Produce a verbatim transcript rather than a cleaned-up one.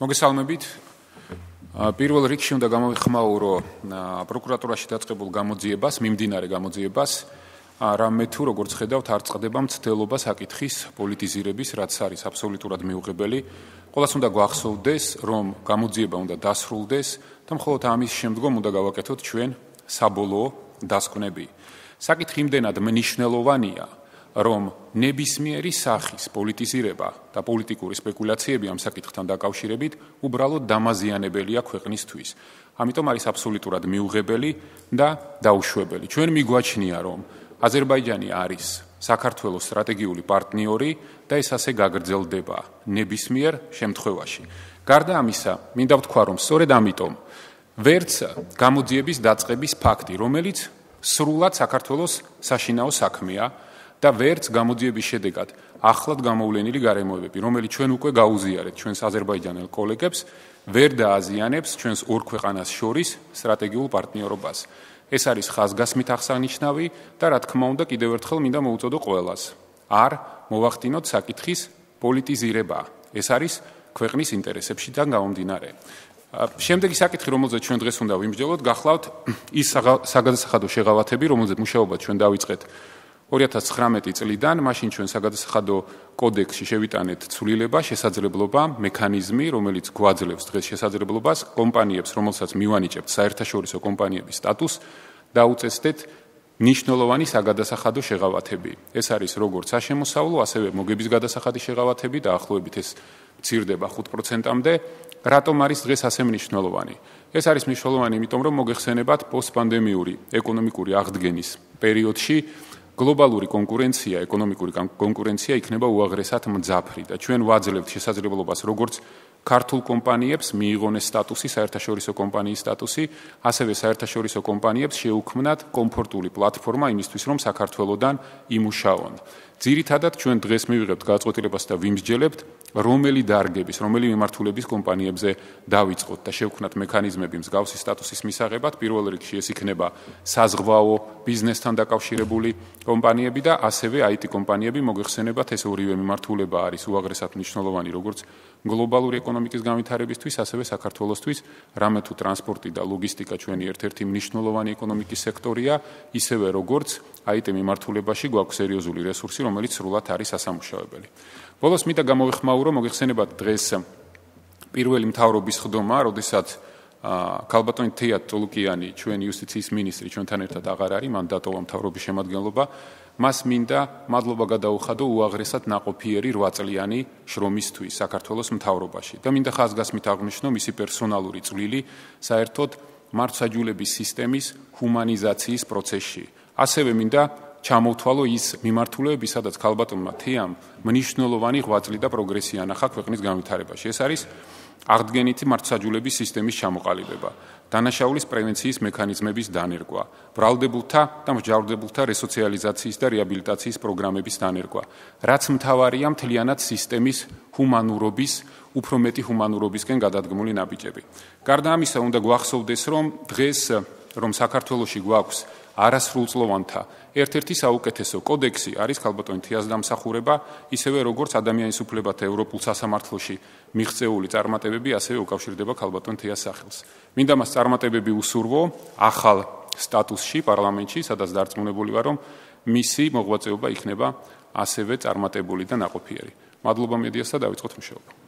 მოგესალმებით. პირველ რიგში უნდა გამოვიხმაურო პროკურატურაში დაწყებულ გამოძიებას, მიმდინარე გამოძიებას, რამე თუ როგორც ხედავთ, არ წყდება მცდელობა საკითხის პოლიტიზირების, რაც არის აბსოლუტურად მიუღებელი. ყველას უნდა გვახსოვდეს, რომ გამოძიება უნდა დასრულდეს და მხოლოდ ამის შემდგომ უნდა გავაკეთოთ ჩვენ საბოლოო დასკვნები. საკითხი იმდენად მნიშვნელოვანია, რომ ნებისმიერი სახის პოლიტიზირება და პოლიტიკური სპეკულაციები ამ საკითხთან დაკავშირებით უბრალოდ დამაზიანებელია ქვეყნისთვის. ამიტომ არის აბსოლუტურად მიუღებელი და დაუშვებელი. ჩვენ მიგვაჩნია, რომ აზერბაიჯანი არის საქართველოს სტრატეგიული პარტნიორი და ეს ასე გაგრძელდება ნებისმიერ შემთხვევაში. გარდა ამისა, მინდა ვთქვა, რომ სწორედ ამიტომ ვერც გამოძიების დაწყების ფაქტი, რომელიც სრულად საქართველოს საშინაო საქმეა და ვერც გამოძიების შედეგად ახლად გამოვლენილი გარემოებები, რომელიც ჩვენ უკვე გაუზიარეთ ჩვენს აზერბაიჯანელ კოლეგებს, ვერ დააზიანებს ჩვენს ორ ქვეყანას შორის სტრატეგიულ პარტნიორობას. ეს არის ხაზგასმით აღსანიშნავი და რა თქმა უნდა კიდევ ერთხელ მინდა მოუწოდო ყველას. არ მოვახდინოთ საკითხის პოლიტიზირება. ეს არის ქვეყნის ინტერესებშიდან გამომდინარე. შემდეგი საკითხი, რომელზეც ჩვენ დღეს უნდა ვიმსჯელოთ, გახლავთ ის საგადასახადო შეღავათები, რომელზეც მუშაობა ჩვენ დავიწყეთ ორი ათას ცხრამეტი წლიდან, მაშინ ჩვენ საგადასახადო კოდექსში შევიტანეთ ცვლილება, შესაძლებლობა, მექანიზმი, რომელიც გვაძლევს დღეს შესაძლებლობას კომპანიებს, რომელსაც მივანიჭებთ საერთაშორისო კომპანიების სტატუსს, დაუწესდეთ მნიშვნელოვანი საგადასახადო შეღავათები. ეს არის როგორც საშემოსავლო, ასევე მოგების გადასახადი შეღავათები და ახლოებით ეს მცირდება ხუთ პროცენტამდე. რატომ არის დღეს ასე მნიშვნელოვანი? ეს არის მნიშვნელოვანი, იმიტომ რომ მოგეხსენებათ პოსტპანდემიური ეკონომიკური აღდგენის პერიოდში გლობალური კონკურენცია, ეკონომიკური კონკურენცია იქნება უაღრესად მძაფრი და ჩვენ ვაძლევთ შესაძლებლობას როგორც ქართულ კომპანიებს მიიღონ ეს სტატუსი, საერთაშორისო კომპანიის სტატუსი, ასევე საერთაშორისო კომპანიებს შეუქმნათ კომფორტული პლატფორმა იმისთვის, რომ საქართველოსდან იმუშაონ. ძირითადად ჩვენ დღეს მივიღებთ გადაწყვეტილებას და ვიმსჯელებთ, რომელი დარგების, რომელი მიმართულების კომპანიებზე დავიწყოთ და შევქმნათ მექანიზმები მსგავსი სტატუსის მისაღებად. პირველ რიგში ეს იქნება საზღვაო ბიზნესთან დაკავშირებული კომპანიები და ასევე აი ტი კომპანიები. მოგეხსენებათ, ეს ორივე მიმართულება არის უაღრესად მნიშვნელოვანი როგორც გლობალური ეკონომიკის განვითარებისთვის, ასევე საქართველოსთვის, რამე თუ ტრანსპორტი და ლოგისტიკა ჩვენი ერთ-ერთი მნიშვნელოვანი ეკონომიკის სექტორია, ისევე როგორც აი ტი მიმართულებაში გვაქვს სერიოზული რესურსი, რომელიც სრულად არის ასამუშავებელი. ბოლოს მინდა გამოვიხმაურო, მოგეხსენებათ დღეს პირველი მთავრობის ხდომა, როდესაც ქალბატონი თეა ტოლუკიანი, ჩვენი იუსტიციის მინისტრი, ჩვენთან ერთად აღარ არის, მან დატოვა მთავრობის შემადგენლობა. მას მინდა მადლობა გადაუხადო უაღრესად ნაყოფიერი რვა წლიანი შრომისთვის საქართველოს მთავრობაში და მინდა ხაზგასმით აღვნიშნო მისი პერსონალური წვლილი საერთოდ მართლმსაჯულების სისტემის ჰუმანიზაციის პროცესში. ასევე მინდა ჩამოვთვალო ის მიმართულებები, სადაც ქალბატონმა თეამ მნიშვნელოვანი ღვაწლი და პროგრესი ანახა ქვეყნის განვითარებაში. ეს არის აღდგენითი მართლმსაჯულების სისტემის ჩამოყალიბება, დანაშაულის პრევენციის მექანიზმების დანერგვა, ბრალდებულთა და მსჯავრდებულთა რესოციალიზაციის და რეაბილიტაციის პროგრამების დანერგვა, რაც მთავარია მთლიანად სისტემის ჰუმანურობის, უფრო მეტი ჰუმანურობისკენ გადადგმული ნაბიჯები. გარდა ამისა, უნდა გვახსოვდეს, რომ დღეს რომ საქართველოში გვაქვს არასრულწლოვანთა ერთ-ერთი საუკეთესო კოდექსი არის ქალბატონი თეას დამსახურება, ისევე როგორც ადამიანის უფლებათა ევროპულ სასამართლოში მიღწეული წარმატებები, ასევე უკავშირდება ქალბატონი თეას სახელს. მინდა მას წარმატებები უსურვო ახალ სტატუსში პარლამენტში, სადაც დარწმუნებული ვარ, რომ მისი მოღვაწეობა იქნება ასევე წარმატებული და ნაყოფიერი. მადლობა მედიას და დავიწყოთ მუშაობა.